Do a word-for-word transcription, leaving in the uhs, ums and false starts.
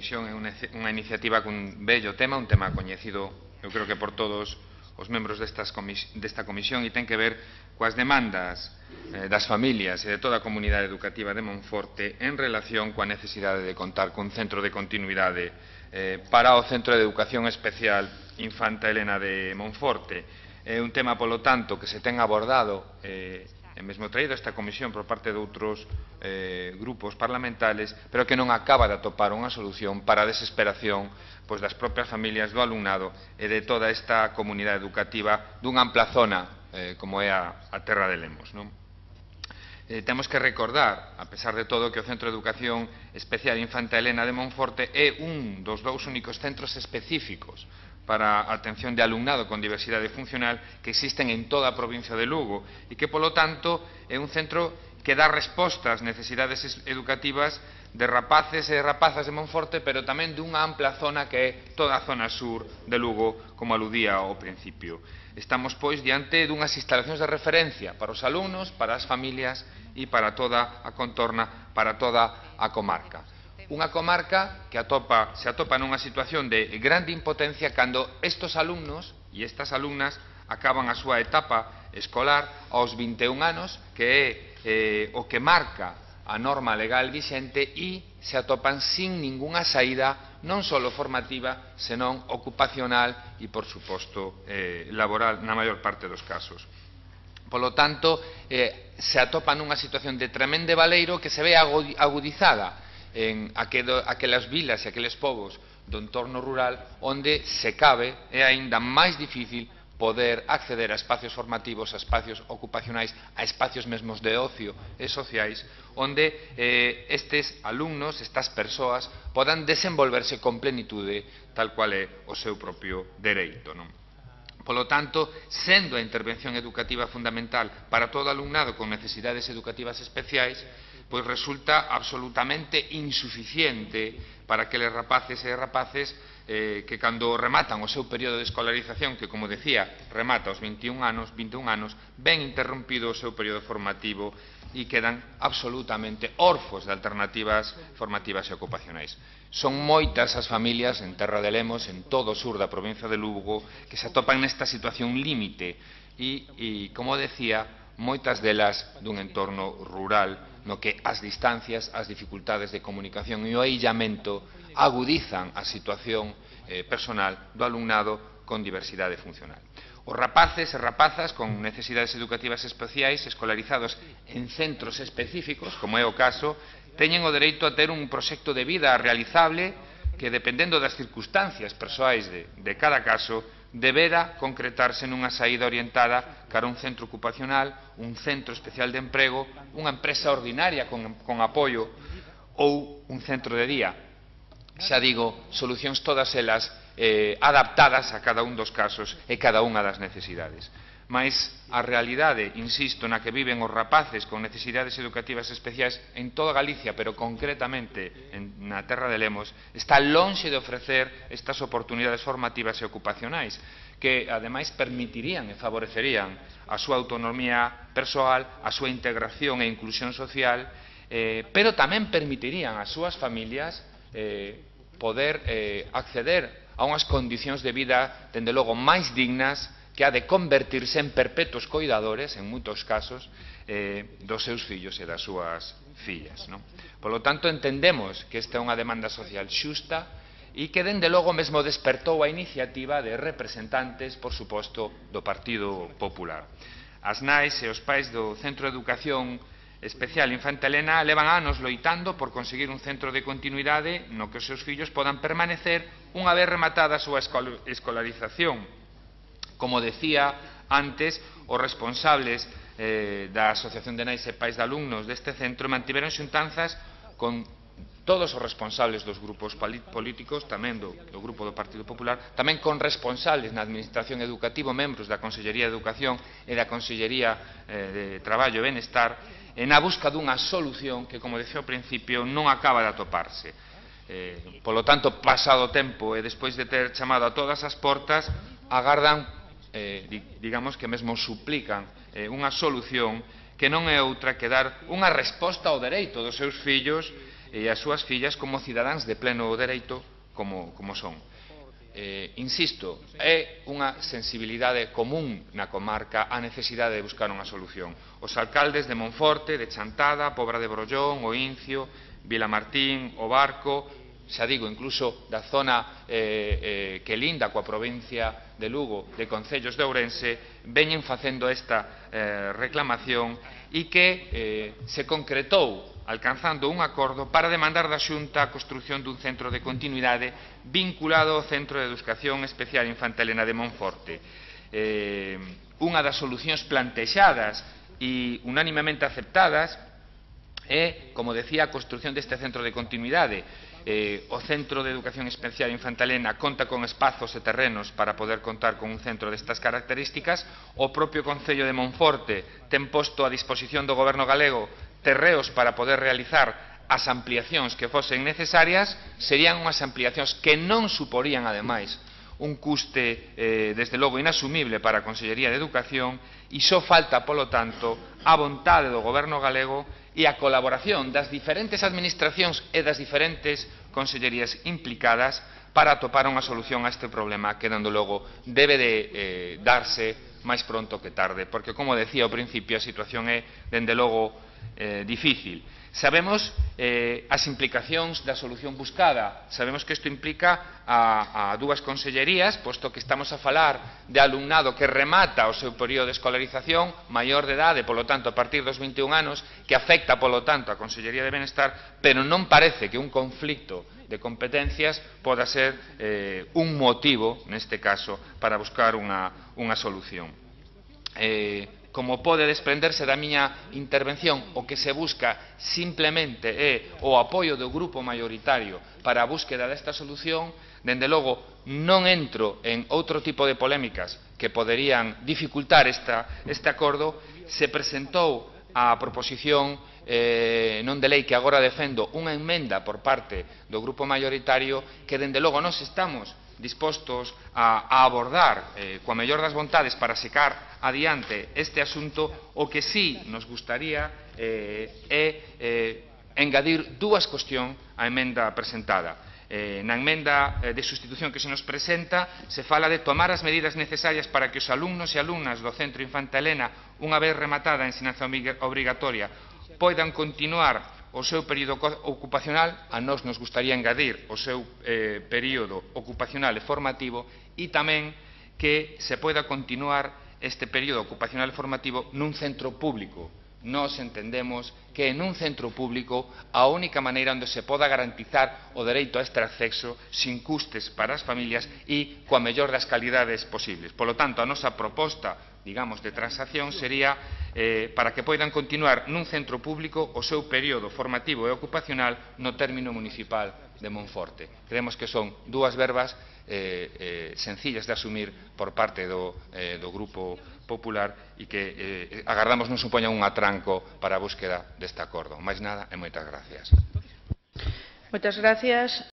Comisión é unha iniciativa cun bello tema, un tema coñecido, eu creo que por todos os membros desta comisión, e ten que ver coas demandas eh, das familias e de toda a comunidade educativa de Monforte en relación coa necesidade de contar cun centro de continuidade eh, para o Centro de Educación Especial Infanta Elena de Monforte. É un tema, polo tanto, que se ten abordado eh, e mesmo traído esta comisión por parte de outros eh, grupos parlamentares, pero que non acaba de atopar unha solución para a desesperación pois, das propias familias, do alumnado e de toda esta comunidade educativa dunha ampla zona eh, como é a, a Terra de Lemos. Non? Eh, temos que recordar, a pesar de todo, que o Centro de Educación Especial Infanta Elena de Monforte é un dos dous únicos centros específicos para a atención de alumnado con diversidade funcional que existen en toda a provincia de Lugo e que, polo tanto, é un centro que dá resposta ás necesidades educativas de rapaces e rapazas de Monforte, pero tamén dunha ampla zona que é toda a zona sur de Lugo, como aludía ao principio. Estamos, pois, diante dunhas instalacións de referencia para os alumnos, para as familias e para toda a contorna, para toda a comarca. Unha comarca que atopa, se atopa nunha situación de grande impotencia cando estes alumnos e estas alumnas acaban a súa etapa escolar aos vinte e un anos, que é eh, o que marca a norma legal vixente, e se atopan sin ningunha saída non só formativa, senón ocupacional e, por suposto, eh, laboral na maior parte dos casos. Polo tanto, eh, se atopan nunha situación de tremendo baleiro que se ve agudizada en aquelas vilas e aqueles povos do entorno rural onde se cabe é aínda máis difícil poder acceder a espacios formativos, a espacios ocupacionais, a espacios mesmos de ocio e sociais, onde eh, estes alumnos, estas persoas, podan desenvolverse con plenitude tal cual é o seu propio dereito, non? Polo tanto, sendo a intervención educativa fundamental para todo alumnado con necesidades educativas especiais, pois resulta absolutamente insuficiente para aqueles rapaces e rapaces eh, que cando rematan o seu período de escolarización, que, como decía, remata aos vinte e un anos, vinte e un anos, ven interrompido o seu período formativo e quedan absolutamente órfos de alternativas formativas e ocupacionais. Son moitas as familias en Terra de Lemos, en todo o sur da provincia de Lugo, que se atopan nesta situación límite e, e como decía, moitas delas dun entorno rural no que as distancias, as dificultades de comunicación e o aillamento agudizan a situación eh, personal do alumnado con diversidade funcional. Os rapaces e rapazas con necesidades educativas especiais escolarizados en centros específicos, como é o caso, teñen o dereito a ter un proxecto de vida realizable que, dependendo das circunstancias persoais de, de cada caso, debera concretarse nunha saída orientada cara a un centro ocupacional, un centro especial de emprego, unha empresa ordinaria con, con apoio ou un centro de día. Xa digo, solucións todas elas eh, adaptadas a cada un dos casos e cada unha das necesidades. Mais a realidade, insisto, na que viven os rapaces con necesidades educativas especiais en toda Galicia, pero concretamente en, na Terra de Lemos, está lonxe de ofrecer estas oportunidades formativas e ocupacionais que, ademais, permitirían e favorecerían a súa autonomía persoal, a súa integración e inclusión social, eh, pero tamén permitirían ás súas familias eh, poder eh, acceder a unhas condicións de vida, dende logo, máis dignas, que ha de convertirse en perpetuos coidadores, en moitos casos, eh, dos seus fillos e das súas fillas. Non? Polo tanto, entendemos que esta é unha demanda social xusta e que, dende logo, mesmo despertou a iniciativa de representantes, por suposto, do Partido Popular. As nais e os pais do Centro de Educación Especial Infanta Elena levan anos loitando por conseguir un centro de continuidade no que os seus fillos podan permanecer unha vez rematada a súa escolarización. Como decía antes, os responsables eh, da Asociación de Nais e Pais de Alumnos deste centro mantiveron xuntanzas con todos os responsables dos grupos políticos, tamén do, do grupo do Partido Popular, tamén con responsables na Administración Educativa, membros da Consellería de Educación e da Consellería eh, de Traballo e Benestar, en a busca dunha solución que, como decía ao principio, non acaba de atoparse. Eh, polo tanto, pasado o tempo e despois de ter chamado a todas as portas, agardan, eh, digamos que mesmo suplican eh, unha solución que non é outra que dar unha resposta ao dereito dos seus fillos e as súas fillas como cidadáns de pleno dereito como, como son. Eh, insisto, é unha sensibilidade común na comarca a necesidade de buscar unha solución. Os alcaldes de Monforte, de Chantada, Pobra de Brollón, O Incio, Vilamartín, O Barco, xa digo, incluso da zona eh, eh, que linda coa provincia de Lugo, de Concellos de Ourense, veñen facendo esta eh, reclamación e que eh, se concretou alcanzando un acordo para demandar da Xunta a construción dun centro de continuidade vinculado ao Centro de Educación Especial Infantelena de Monforte. Eh, unha das solucións plantexadas e unánimemente aceptadas é, como decía, a construción deste centro de continuidade. Eh, o Centro de Educación Especial Infantelena conta con espazos e terrenos para poder contar con un centro destas características. O propio Concello de Monforte ten posto a disposición do Goberno galego terreos para poder realizar as ampliacións que fosen necesarias. Serían unhas ampliacións que non suporían, ademais, un custe, eh, desde logo, inasumible para a Consellería de Educación, e só falta, polo tanto, a vontade do Goberno galego e a colaboración das diferentes administracións e das diferentes consellerías implicadas para atopar unha solución a este problema que, dando logo, debe de eh, darse máis pronto que tarde, porque, como decía ao principio, a situación é, dende logo, eh, difícil. Sabemos eh, as implicacións da solución buscada. Sabemos que isto implica a, a dúas consellerías, posto que estamos a falar de alumnado que remata o seu período de escolarización, maior de idade, polo tanto, a partir dos vinte e un anos, que afecta, polo tanto, a Consellería de Benestar, pero non parece que un conflicto de competencias poda ser eh, un motivo, neste caso, para buscar unha, unha solución. Eh, Como pode desprenderse da miña intervención, o que se busca simplemente é o apoio do grupo maioritario para a búsqueda desta solución. Dende logo, non entro en outro tipo de polémicas que poderían dificultar esta, este acordo. Se presentou a proposición eh, non de lei que agora defendo unha emenda por parte do grupo maioritario que, dende logo, nós estamos dispostos a, a abordar eh, coa mellor das vontades para secar adiante este asunto. O que sí nos gustaría eh, é eh, engadir dúas cuestións á emenda presentada. Eh, na emenda eh, de sustitución que se nos presenta se fala de tomar as medidas necesarias para que os alumnos e alumnas do Centro Infantelena, unha vez rematada a ensinanza obrigatoria, poidan continuar o seu período ocupacional. A nós nos gustaría engadir o seu eh, período ocupacional e formativo, e tamén que se poida continuar este período ocupacional e formativo nun centro público. Nós entendemos que en un centro público a única maneira onde se poda garantizar o dereito a este acceso sin custes para as familias e coa mellor das calidades posibles. Polo tanto, a nosa proposta, digamos, de transacción sería eh, para que poidan continuar nun centro público o seu período formativo e ocupacional no término municipal de Monforte. Creemos que son dúas verbas eh, eh, sencillas de asumir por parte do, eh, do Grupo Popular e que eh, agardamos non supoña un atranco para a búsqueda deste acordo. Máis nada e moitas gracias. Moitas gracias.